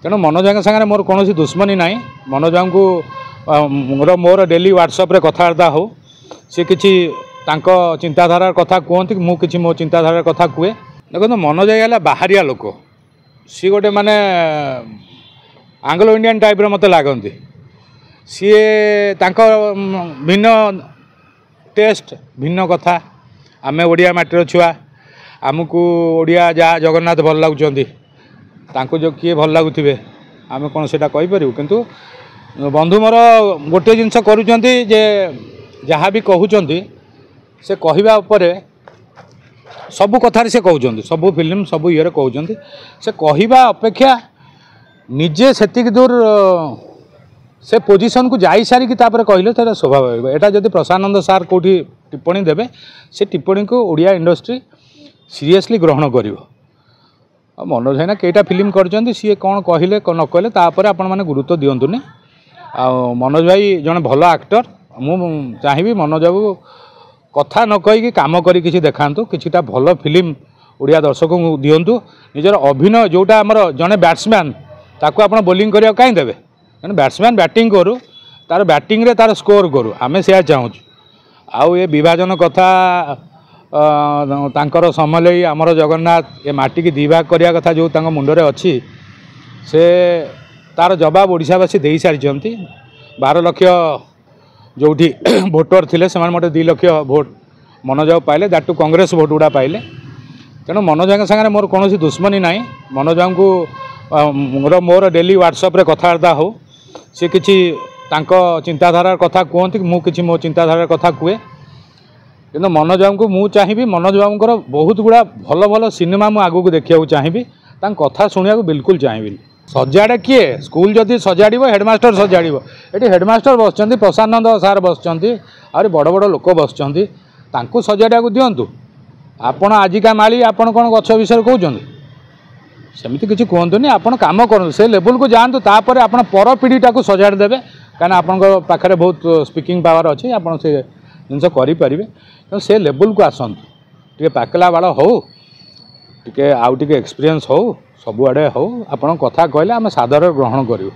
ତେଣୁ ମନୋଜ ଭାଇଙ୍କ ସାଙ୍ଗରେ ମୋର କୌଣସି ଦୁଶ୍ମନୀ ନାହିଁ। ମନୋଜ ଭାଇଙ୍କୁ ମୋର ଡେଲି ହ୍ୱାଟ୍ସଆପ୍ରେ କଥାବାର୍ତ୍ତା ହେଉ, ସେ କିଛି ତାଙ୍କ ଚିନ୍ତାଧାରାର କଥା କୁହନ୍ତି, ମୁଁ କିଛି ମୋ ଚିନ୍ତାଧାରାର କଥା କୁହେ। ଦେଖନ୍ତୁ, ମନୋଜ ଭାଇ ହେଲା ବାହାରିଆ ଲୋକ, ସିଏ ଗୋଟେ ମାନେ ଆଙ୍ଗ୍ଲୋ ଇଣ୍ଡିଆନ୍ ଟାଇପ୍ର ମୋତେ ଲାଗନ୍ତି। ସିଏ ତାଙ୍କ ଭିନ୍ନ ଟେଷ୍ଟ, ଭିନ୍ନ କଥା। ଆମେ ଓଡ଼ିଆ ମାଟିର ଛୁଆ, ଆମକୁ ଓଡ଼ିଆ ଯାହା ଜଗନ୍ନାଥ ଭଲ ଲାଗୁଛନ୍ତି, ତାଙ୍କୁ ଯେଉଁ କିଏ ଭଲ ଲାଗୁଥିବେ ଆମେ କ'ଣ ସେଇଟା କହିପାରିବୁ? କିନ୍ତୁ ବନ୍ଧୁ ମୋର ଗୋଟିଏ ଜିନିଷ କରୁଛନ୍ତି ଯେ ଯାହା ବି କହୁଛନ୍ତି ସେ କହିବା ଉପରେ ସବୁ କଥାରେ ସେ କହୁଛନ୍ତି, ସବୁ ଫିଲ୍ମ ସବୁ ଇଏରେ କହୁଛନ୍ତି। ସେ କହିବା ଅପେକ୍ଷା ନିଜେ ସେତିକି ଦୂର ସେ ପୋଜିସନ୍କୁ ଯାଇସାରିକି ତାପରେ କହିଲେ ସେଇଟା ଶୋଭା ପାଇବ। ଏଇଟା ଯଦି ପ୍ରଶାନନ୍ଦ ସାର୍ କେଉଁଠି ଟିପ୍ପଣୀ ଦେବେ, ସେ ଟିପ୍ପଣୀକୁ ଓଡ଼ିଆ ଇଣ୍ଡଷ୍ଟ୍ରି ସିରିୟସଲି ଗ୍ରହଣ କରିବ। ଆଉ ମନୋଜ ଭାଇନା କେଇଟା ଫିଲ୍ମ କରିଛନ୍ତି, ସିଏ କ'ଣ କହିଲେ ନ କହିଲେ ତାପରେ ଆପଣମାନେ ଗୁରୁତ୍ୱ ଦିଅନ୍ତୁନି। ଆଉ ମନୋଜ ଭାଇ ଜଣେ ଭଲ ଆକ୍ଟର। ମୁଁ ଚାହିଁବି ମନୋଜ ବାବୁ କଥା ନ କହିକି କାମ କରି କିଛି ଦେଖାନ୍ତୁ, କିଛିଟା ଭଲ ଫିଲ୍ମ ଓଡ଼ିଆ ଦର୍ଶକଙ୍କୁ ଦିଅନ୍ତୁ। ନିଜର ଅଭିନୟ ଯେଉଁଟା ଆମର ଜଣେ ବ୍ୟାଟ୍ସମ୍ୟାନ୍, ତାକୁ ଆପଣ ବୋଲିଂ କରିବାକୁ କାହିଁ ଦେବେ? ଜଣେ ବ୍ୟାଟ୍ସମ୍ୟାନ୍ ବ୍ୟାଟିଂ କରୁ, ତାର ବ୍ୟାଟିଂରେ ତାର ସ୍କୋର କରୁ, ଆମେ ସେୟା ଚାହୁଁଛୁ। ଆଉ ଏ ବିଭାଜନ କଥା, ତାଙ୍କର ସମଲେଇ ଆମର ଜଗନ୍ନାଥ ଏ ମାଟିକି ଦୁଇ ଭାଗ କରିବା କଥା ଯେଉଁ ତାଙ୍କ ମୁଣ୍ଡରେ ଅଛି, ସେ ତାର ଜବାବ ଓଡ଼ିଶାବାସୀ ଦେଇସାରିଛନ୍ତି। 12 ଲକ୍ଷ ଯେଉଁଠି ଭୋଟର ଥିଲେ, ସେମାନେ ମୋଟେ 2 ଲକ୍ଷ ଭୋଟ ମନୋଜ ବାବୁ ପାଇଲେ, that two Congress vote ଗୁଡ଼ା ପାଇଲେ। ତେଣୁ ମନୋଜ ଭାଇଙ୍କ ସାଙ୍ଗରେ ମୋର କୌଣସି ଦୁଶ୍ମନୀ ନାହିଁ। ମନୋଜ ଭାଇଙ୍କୁ ମୋର ଡେଲି ହ୍ୱାଟ୍ସଆପ୍ରେ କଥାବାର୍ତ୍ତା ହେଉ, ସେ କିଛି ତାଙ୍କ ଚିନ୍ତାଧାରାର କଥା କୁହନ୍ତି, ମୁଁ କିଛି ମୋ ଚିନ୍ତାଧାରାର କଥା କୁହେ। କିନ୍ତୁ ମନୋଜ ବାବୁଙ୍କୁ ମୁଁ ଚାହିଁବି, ମନୋଜ ବାବୁଙ୍କର ବହୁତ ଗୁଡ଼ା ଭଲ ଭଲ ସିନେମା ମୁଁ ଆଗକୁ ଦେଖିବାକୁ ଚାହିଁବି, ତାଙ୍କ କଥା ଶୁଣିବାକୁ ବିଲକୁଲ ଚାହିଁବିନି। ସଜାଡ଼େ କିଏ? ସ୍କୁଲ ଯଦି ସଜାଡ଼ିବ ହେଡ଼ମାଷ୍ଟର ସଜାଡ଼ିବ। ଏଠି ହେଡ଼ମାଷ୍ଟର ବସିଛନ୍ତି, ପ୍ରଶାନନ୍ଦ ସାର୍ ବସିଛନ୍ତି, ଆହୁରି ବଡ଼ ବଡ଼ ଲୋକ ବସିଛନ୍ତି, ତାଙ୍କୁ ସଜାଡ଼ିବାକୁ ଦିଅନ୍ତୁ। ଆପଣ ଆଜିକା ମାଳି, ଆପଣ କ'ଣ ଗଛ ବିଷୟରେ କହୁଛନ୍ତି? ସେମିତି କିଛି କୁହନ୍ତୁନି। ଆପଣ କାମ କରନ୍ତୁ, ସେ ଲେବୁଲକୁ ଯାଆନ୍ତୁ, ତାପରେ ଆପଣ ପର ପିଢ଼ିଟାକୁ ସଜାଡ଼ି ଦେବେ। କାହିଁକିନା ଆପଣଙ୍କ ପାଖରେ ବହୁତ ସ୍ପିକିଂ ପାୱାର ଅଛି, ଆପଣ ସେ ଜିନିଷ କରିପାରିବେ। ତେଣୁ ସେ ଲେବୁଲକୁ ଆସନ୍ତୁ, ଟିକେ ପାକଲା ବାଳ ହଉ, ଟିକେ ଆଉ ଟିକେ ଏକ୍ସପିରିଏନ୍ସ ହଉ, ସବୁଆଡ଼େ ହଉ। ଆପଣ କଥା କହିଲେ ଆମେ ସାଦରରେ ଗ୍ରହଣ କରିବୁ।